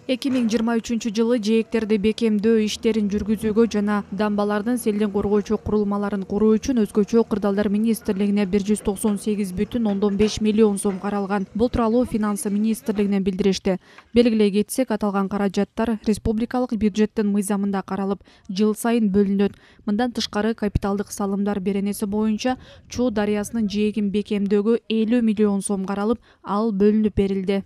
2023-жылы жээктерди бекемдөө иштерин жүргүзүүгө жана дамбалардын селден коргоочу курулмаларын куруу үчүн өзгөчө кырдаалдар министрлигине 198,5 миллион сом каралган. Бул тууралуу Финансы министрлигинен билдиришти. Белгилей кетсек, аталган каражаттар республикалык бюджеттин мыйзамында каралып, жыл сайын бөлүнөт. Мындан тышкары капиталдык салымдар беренеси боюнча Чуу дарыясынын жээгин бекемдөөгө 50 миллион сом каралып, ал бөлүнүп берилди.